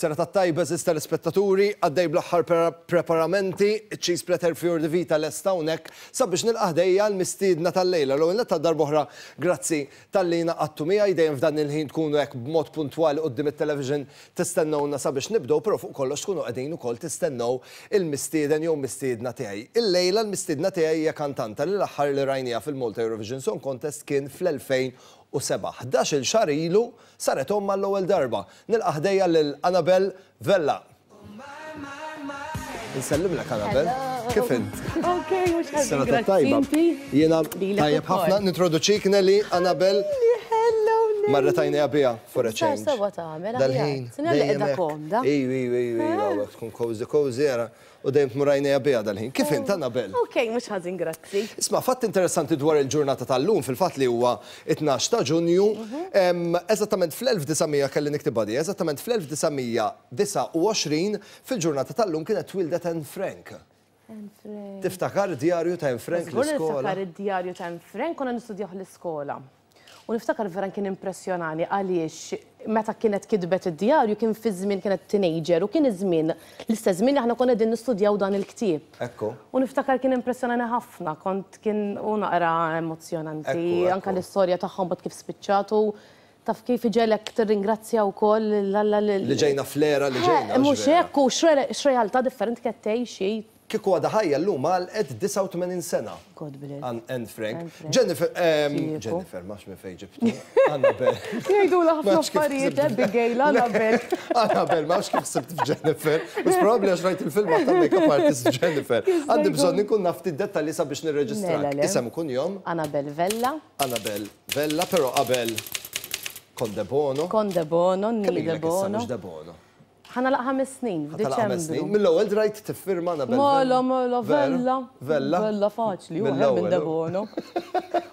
Is-serata t-tajba għeżież telespettaturi, għaddej bl-aħħar preparamenti, iċ-cheese platter Fior di Vita lest hawnhekk sabiex nilqa' ħdejja l-mistiedna tal-lejla. L-ewwel nett għal darb'oħra grazzi talli ingħaqadtu miegħi, dejjem f'dan il-ħin tkunu hekk b'mod puntwali quddiem it-television tistennewna sabiex nibdew, però fuq kollox tkunu qegħdin ukoll tistennew il-mistieden jew mistiedna tiegħi. Illejla l-mistiedna tiegħi hija kantanta li l-aħħar li rajniha fil-Malta Eurovision Song Contest kien fl-2007. Ħdax-il xahar ilu Saret omm għall-ewwel darba. Nilqa' ħdejja lil Annabelle Vella. Insellimlek Annabelle. Kif int? Ok, mhux ħażin. Sena tajba. Jiena tajjeb ħafna nintroduċik Nelly Annabelle. Hello Nelly. Marret għajnejha biha for a change. Sewa tagħmel. Dal-ħin. Sinjal li qiegħda komda. Iju, iju, iju, tkun cozy cozy ara. U dejjem tmur għajnejha biha dal-ħin. Kif int, Annabelle? Ok, mhux ħażin, grazzi. Isma', fatt interessanti dwar il-ġurnata tal-lum, fil-fatt li huwa t-tnax ta' Ġunju, eżattament fl-1900, kelli niktibha di, eżattament fl-1929, fil-ġurnata tal-lum kienet twieldet Anne Frank. Anne Frank. Tiftakar id-djarju ta' Anne Frank l-iskola? Żgur niftakar id-djarju ta' Anne Frank, konna nistudjawh l-iskola. U niftakar vera kien impressjonani għaliex meta kienet kitbet id-djarju kien fi żmien kienet teenager u kien iż-żmien, l-istess żmien li aħna konna qegħdin nistudjaw dan il-ktieb. Ekku. U niftakar kien impressjonani ħafna, kont kien u naqra emozzjonanti. Ekku, Anke l-istorja tagħhom mbagħad kif spiċċat u taf kif iġegħlek tirringrazzja wkoll lil Alla li. Li ġejna fl-era li ġejna, hux vera? Mhux hekk u x'realtà differenti kienet tgħix hi. Kieku għadha ħajja llum għalqet 89 sena. God bless. Anne Frank. Jennifer, Jennifer, ma nafx minn fejn ġibtu. Annabel. Jgħidulha ħafna affarijiet, Abigail, Annabel. Annabel, ma nafx kif ħsibt f'Jennifer. Mhux probabbli għax rajt il-film ta' makeup artist Jennifer. Għandi bżonn inkun naf ftit dettalji sabiex nirreġistrak. Isem u kunjom? Annabel Vella. Annabel Vella, però qabel Con de Bono. Con de Bono, Nni de Bono. Kemm ilek issa mhux de Bono? Ħa nagħlaq ħames snin Ħa tagħlaq ħames snin. f'Diċembru. Mill-ewwel drajt tiffirma Annabelle Vella. Mela, mela, Vella. Vella. Vella faċli, hu aħjar minn Debono.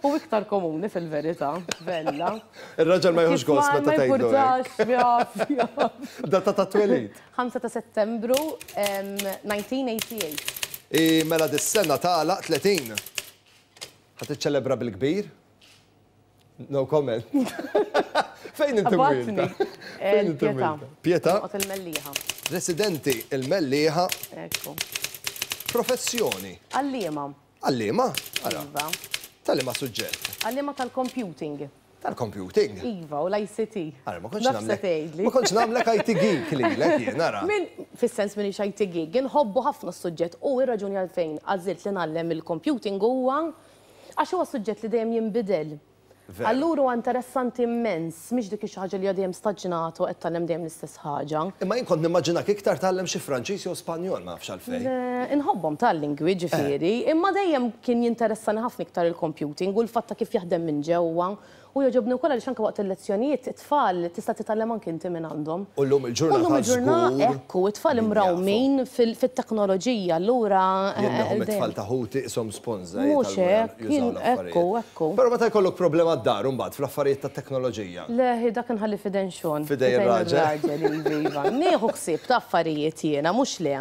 U iktar komuni fil-verità, Vella. Ir-raġel ma jieħux gost meta tgħidlu Ma jimpurtax, jaf, jaf. Data ta' twelid. 5 ta' Settembru 1988. I mela dis-sena tagħlaq 30. Ħa tiċċelebra bil-kbir? No comment. Fejn inti mwilda? Fejn inti mwilda? Pietà. Noqgħod il-Mellieħa. Residenti il-Mellieħa. Ekku. Professjoni. Għalliema. Għalliema? Ara. Iva. Tal-liema suġġett? Għalliema tal-computing. Tal-computing? Iva, u l-ICT. Ara, ma kontx nagħmlek. Ma kontx nagħmlek IT geek lilek jien, ara. Min, fis-sens m'iniex IT geek, inħobbu ħafna s-suġġett u r-raġuni għalfejn għażilt li ngħallem il-computing huwa Għax huwa suġġett li dejjem jinbidel. Allura huwa interessanti immens, mhix dik xi ħaġa li hija dejjem staġnata u qed tgħallem dejjem l-istess ħaġa. Imma jien kont nimmaġinak iktar tgħallem xi Franċiż jew Spanjol, ma nafx għalfejn. Le, inħobbhom tal-lingwi ġifieri, imma dejjem kien jinteressani ħafna iktar il-computing u l-fatt ta' kif jaħdem minn ġewwa. U jogħġobni wkoll għaliex anke waqt il-lezzjonijiet it-tfal tista' titgħallem anke inti minn għandhom. U llum il-ġurnata żgur. U llum il-ġurnata ekku, it-tfal imrawmin fit-teknoloġija, allura. Jien neħu mit-tfal ta' ħuti qishom sponża Mhux hekk, jużaw l-affarijiet. Ekku, ekku. Però meta jkollok problema d-dar imbagħad fl-affarijiet tat-teknoloġija. Le, hi dak inħalli f'idejn Sean. F'idejn ir-raġel. F'idejn ir-raġel, iva, iva. Nieħu ħsieb ta' affarijiet jiena, mhux le.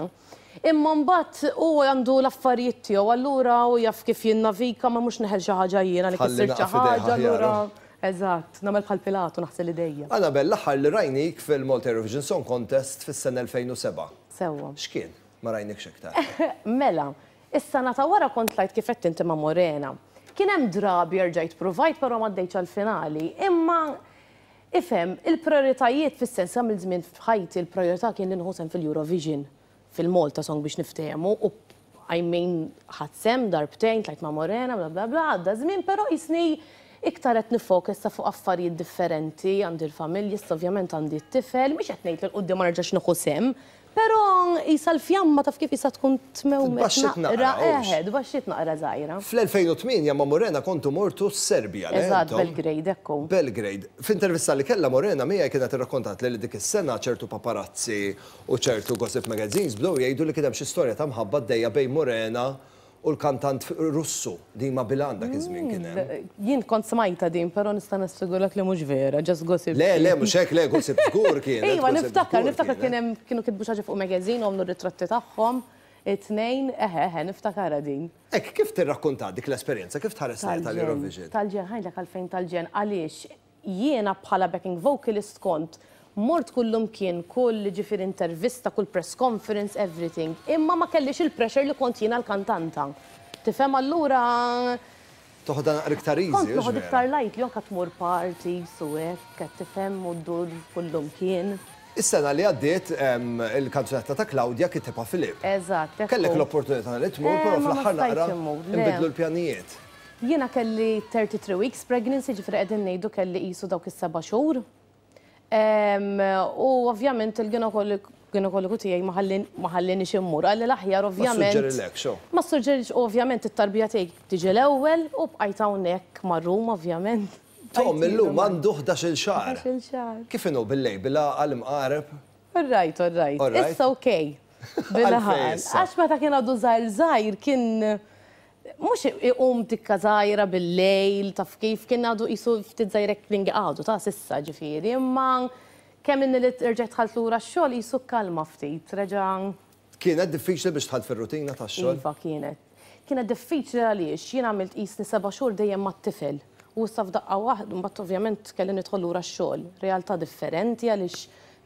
Imma mbagħad hu għandu l-affarijiet tiegħu allura hu jaf kif jinnavika ma mhux neħel xi ħaġa jiena li kissirt xi ħaġa allura eżatt, nagħmel bħal Pilatu naħsel idejja. Annabelle, l-aħħar li rajnik fil-Malta Eurovision Song Contest fis-sena 2007. Sewwa. X'kien? Ma rajnikx iktar. Mela, is-sena ta' wara kont tlajt kif għedt inti ma' Morena. Kien hemm drabi erġajt pruvajt però m'għaddejtx għall-finali. Imma ifhem, il-prijoritajiet fis-sens għamilt żmien f'ħajti l-prijorità kien li nieħu sehem fil-Eurovision. fil-Malta Song biex niftehmu u I mean ħadt sehem darbtejn, tlajt ma' Morena, bla bla bla, għadda ż-żmien però qisni iktar qed nifoka issa fuq affarijiet differenti, għandi l-familja, issa ovvjament għandi t-tifel, mhix qed ngħid li 'l quddiem ma nerġax nieħu sehem, però qisha l-fjamma taf kif qisha tkun tmewmet Tbaxxiet naqra, hux? Eħe, tbaxxiet naqra żgħira. Fl-2008 ma' Morena kontu mortu s-Serbja, le Eżatt, intom? Belgrade, ekku. Belgrade. F'intervista li kellha Morena miegħi kienet irrakkontatli li dik is-sena ċertu paparazzi U ċertu gossip magazines bdew jgħidu li kien hemm xi storja ta' mħabba għaddejja bejn Morena u l-kantant Russu, Dima Bilan dak iż-żmien kien hemm. Jien kont smajtha din, però nista' nassigurak li mhux vera, just gossip. Le, le, mhux hekk, le, gossip żgur kienet. Iva, niftakar, niftakar kien hemm, kienu kitbu xi ħaġa fuq magazine u għamlu r-ritratti tagħhom, it-tnejn, eħe, eħe, niftakarha din. Hekk, kif tirrakkonta dik l-esperjenza, kif tħares lejha tal-Eurovision? Tal-ġenn, ħa ngħidlek għalfejn tal-ġenn, għaliex Jiena bħala backing vocalist kont Mort kullumkien, kull ġifieri intervista, kull press conference, everything. Imma ma kellix il-pressure li kont jiena l-kantanta. Tifhem allura Toħodha naqra iktar easy. Kont noħod iktar lightly, anke tmur parties u hekk, qed tifhem u ddur kullumkien. Is-sena li għaddiet il-kanzunetta ta' Claudia kitibha Filip. Eżatt. Kellek l-opportunità li tmur, però fl-aħħar naqra nbidlu l-pjanijiet. Jiena kelli 33 weeks pregnancy, ġifieri qegħdin ngħidu kelli qisu dawk is-seba' xhur. U ovvjament il-ginekologu tiegħi ma ħallinix immur. Qalli l-aħjar ovvjament. Ma ssuġġerilekx, oh. Ma ssuġġerix ovvjament it-tarbija tiegħi tiġi l-ewwel u bqajt hawnhekk ma' Ruma ovvjament. Tom illum għandu 11-il xahar. 11-il xahar. Kif inhu bil-lejl, bil-għaqal imqareb? All right, all right. Issa okay. Bil-għaqal. Għax meta kien għadu żgħir żgħir kien mhux iqum tikka żgħira bil-lejl, taf kif, kien għadu qisu ftit żgħir hekk klingi għadu ta' s'issa ġifieri, imma kemm inni li rġajt dħalt lura x-xogħol qisu kkalma ftit, reġa'. Kienet diffiċli biex dħalt fir-rutina tax-xogħol? Iva kienet. Kienet diffiċli għaliex jien għamilt qisni seba' xhur dejjem mat-tifel u issa f'daqqa waħda, mbagħad ovvjament kelli nidħol lura x-xogħol. Realtà differenti għaliex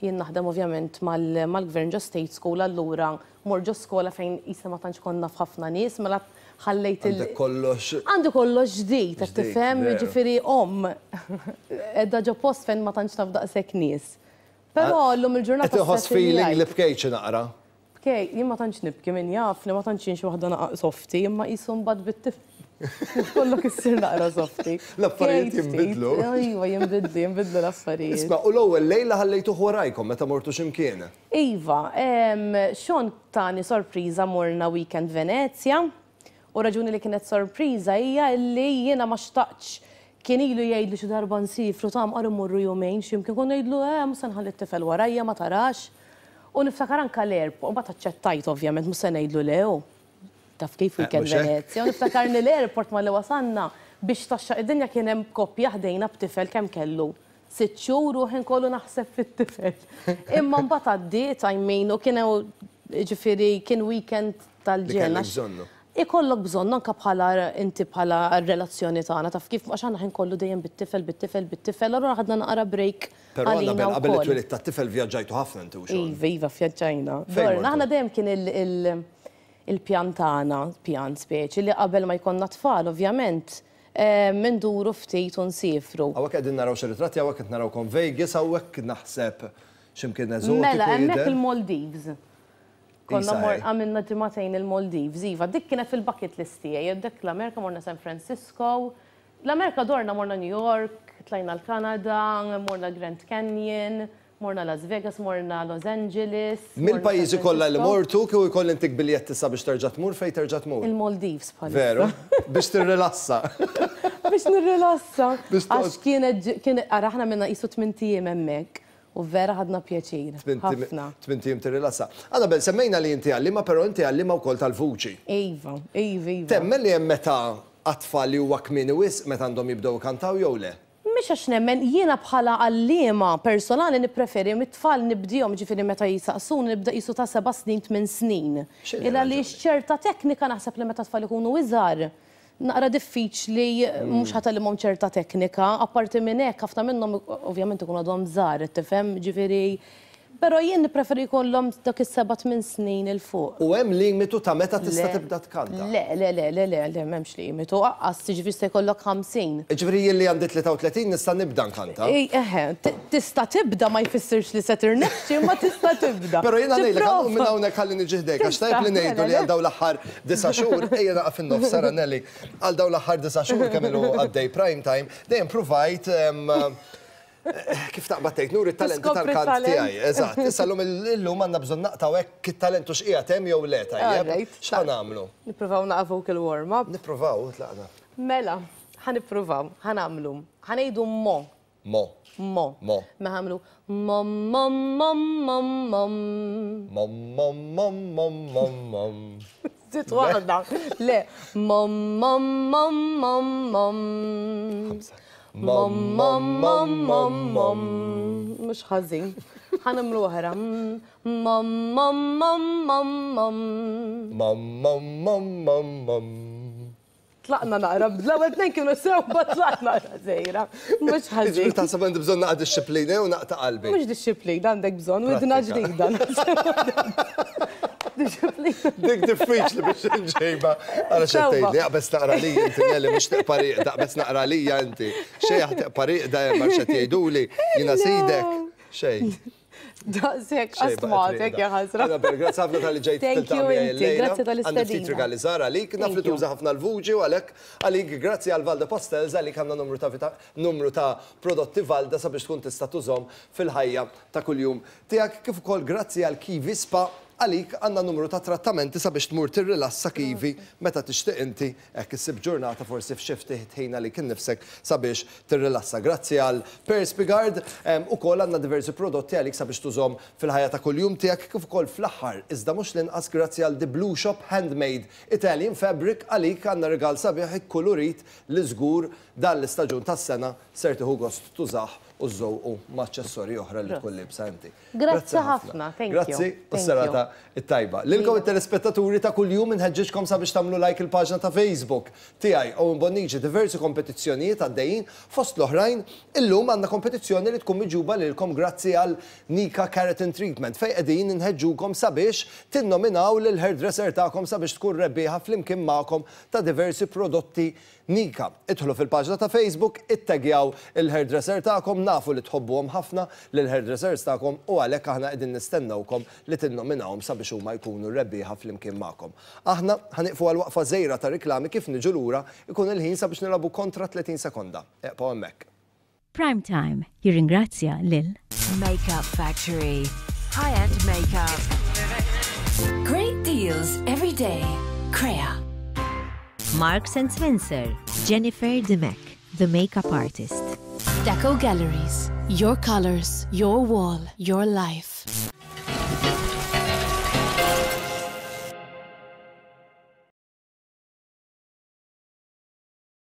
jien naħdem ovvjament mal-gvern ġo state school allura Mort ġo skola fejn qisna ma tantx kont naf ħafna nies, mela ħallejt il. Għandek kollox. Għandi kollox ġdid, qed tifhem? Jiġifieri omm qiegħda ġo post fejn ma tantx taf daqshekk nies. Però llum il-ġurnata. Qed inħoss feeling li bkejt xi naqra. Bkejt, jien ma tantx nibki min jafni, ma tantx jien xi waħda naqa' softi, imma qisu mbagħad bit-tifel kollok issir naqra softi. L-affarijiet jinbidlu. Iva, jinbidlu, jinbidlu l-affarijiet. Isma' u l-ewwel lejla ħallejtuh warajkom meta mortu xi mkien? Iva, Sean tani sorpriża morna weekend Venezja u raġuni li kienet sorpriża hija illi jiena ma xtaqtx kien ilu jgħidli xi darba nsiefru ta' mqar immorru jumejn xi mkien kont ngħidlu eh mhux se nħalli t-tifel warajja ma tarax u niftakar anke l-airport mbagħad aċċettajt ovvjament mhux se ngħidlu le hu taf kif weekend Venezja u niftakarni l-airport malli wasalna biex tgħaxxaq id-dinja kien hemm koppja ħdejna b'tifel kemm kellu Sitt xhur u ħin kollu naħseb fit-tifel. Imma mbagħad għaddiet, I mean, u kien jiġifieri kien weekend tal-ġenn. Li kellek bżonnu. Ikollok bżonnu anke bħala inti bħala r-relazzjoni tagħna taf kif għax aħna ħin kollu dejjem bit-tifel, bit-tifel, bit-tifel, allura ħadna naqra break Però Annabel qabel it-twelid tat-tifel vvjaġġajtu ħafna inti u Sean. Iva, iva vvjaġġajna. Fejn mortu? Aħna dejjem kien il-pjan tagħna, pjan speċi, li qabel ma jkollna tfal ovvjament, Induru ftit u nsiefru. Hawnhekk qegħdin naraw xi ritratti, hawnhekk qed narawkom Vegas, hawnhekk naħseb xi mkien eżotiku Mela, hemmhekk il-Maldives. Konna mor għamilna ġimagħtejn il-Maldives, iva. Dik kienet fil-bucket list tiegħi. Dik l-Amerika morna San Francisco. L-Amerika dorna morna New York, tlajna l-Kanada, morna Grand Canyon. Morna Las Vegas, morna Los Angeles. Mill-pajjiżi kollha li mortu, kieku jkolli ntik biljett issa biex terġa' tmur, fejn terġa' tmur? Il-Maldives bħalissa. Veru? Biex tirrilassa. Biex nirrilassa. Għax kienet, kien, ara aħna għamilna qisu tmint ijiem hemmhekk u vera ħadna pjaċir. Ħafna. Tmint ijiem tirrilassa. Annabelle, semmejna li inti għalliema, però inti għalliema wkoll tal-vuċi. Iva, iva, iva. Temmen li hemm meta għat-tfal li huwa kmieni wisq meta għandhom jibdew ikantaw jew le? Mhix għax nemmen, jiena bħala għalliema personali nippreferi mit-tfal nibdihom, jiġifieri meta jisaqsuni nibda qisu ta' seba' snin, tmien snin. X'inhi Il għaliex r-raġuni? ċerta teknika naħseb li meta t-tfal ikunu iżgħar, naqra diffiċli mhux ħa tgħallimhom ċerta teknika, apparti minn hekk ħafna minnhom ovvjament ikunu għadhom żgħar, qed tifhem, jiġifieri Però jien nippreferi jkollhom dak is-seba' tmien snin 'il fuq. U hemm limitu ta' meta tista' tibda tkanta? Le, le, le, le, le, le, m'hemmx limitu. Aqqas, jiġifieri jista' jkollok 50. Jiġifieri jien li għandi 33 nista' nibda nkanta? Eħe, tista' tibda ma jfissirx li se tirnexxi imma tista' tibda. Però jiena ngħidlek, ħa nqum minn hawnhekk ħalli niġi ħdejk għax tajjeb li ngħidu li għal dawn l-aħħar disa' xhur, ejja naqa' fin-nofs Sara Nelly, għal dawn l-aħħar disa' xhur kemm ilu għaddej Prime Time, dejjem pruvajt Kif taqbad tgħid, nuri t-talenti tal-kant tiegħi. Eżatt. Issa llum illum għandna bżonn naqtgħu hekk it-talent u x'qiegħed hemm jew le, tajjeb? X'ħa nagħmlu? Nippruvaw naqa' vocal warm up. Nippruvaw, tlaqna. Mela, ħa nippruvaw, ħa nagħmlu. Ħa ngħidu mo. Mo. Mo. Mo. Mela ħa nagħmlu mo mo mo mo mo. Mo mo mo mo mo mo. Żidt waħda. Le. Mo mo mo mo mo. Ħamsa. Mom, mom, mom, mom, mom. Mhux ħażin. Ħa nagħmlu oħra. Mom, mom, mom, mom, mom. Mom, mom, mom, mom, mom. Tlaqna naqra, l-ewwel tnejn kienu sew, mbagħad tlaqna naqra żgħira. Mhux ħażin. Jiġifieri taħseb għandi bżonn naqra dixxiplina jew naqta' qalbi? Mhux dixxiplina għandek bżonn, widna ġdida. Dixxiplina. Dik diffiċli biex inġejba. Ara x'qed tgħidli, aqbeż naqra lija inti Nelly, mhux teqpa' rieqda, aqbeż naqra lija inti. Xejn teqpa' rieqda hemm għax qed jgħiduli, jiena sidek. Xejn. Daqshekk astmatek ja ħasra. Annabelle, grazzi ħafna talli ġejt Thank you inti, grazzi tal-istedina. Għandi ftit rigali żgħar għalik, naf li tuża ħafna l-vuċi u għalhekk għalik grazzi għal Valda Pastels għalik għandna numru ta' numru ta' prodotti Valda sabiex tkun tista' tużhom fil-ħajja ta' kuljum tiegħek kif ukoll grazzi għal Kiwi Spa għalik għandna numru ta' trattamenti sabiex tmur tirrilassa Kiwi meta tixtieq inti Hekk issib ġurnata forsi f'xi ftit ħin għalik innifsek sabiex tirrilassa. Grazzi għal Perspigard, ukoll għandna diversi prodotti għalik sabiex tużhom fil-ħajja ta' kuljum tiegħek kif ukoll fl-aħħar iżda mhux l-inqas grazzi għal The Blue Shop Handmade Italian Fabric għalik għandna rigal sabiħ ikkulurit li żgur dan l-istaġun tas-sena ser tieħu gost tużah u żżewqu ma' aċċessorji oħra li tkun liebsa inti. Grazzi ħafna, thank you. Grazzi u s-serata t-tajba. Lilkom it-telespettaturi ta' kuljum inħeġġiġkom sabiex tagħmlu like il-paġna ta' Facebook tiegħi Owen Bonnici diversi kompetizzjonijiet għaddejjin fost l-oħrajn illum għandna kompetizzjoni li tkun miġjuba lilkom grazzi għal Nika Keratin Treatment fejn qegħdin inħeġġukom sabiex tinnominaw lill-hairdresser tagħkom sabiex tkun rebbieħa flimkien magħkom ta' diversi prodotti Nika, idħlu fil-paġna ta' Facebook, ittaggjaw il-hairdresser tagħkom, nafu li tħobbuhom ħafna lill-hairdressers tagħkom u għalhekk aħna qegħdin nistennewkom li tinnominawhom sabiex huma jkunu r-rebbieħa flimkien magħkom. Aħna ħa nieqfu għal waqfa żgħira ta' riklami kif niġu lura jkun il-ħin sabiex nilagħbu kontra 30 sekonda. Eqgħu hemmhekk. Prime Time jirringrazzja lil. Makeup Factory. High-end makeup. Great deals every day. Crea. Marks and Spencer, Jennifer Dimech, the makeup artist. Deco Galleries. Your colors, your wall, your life.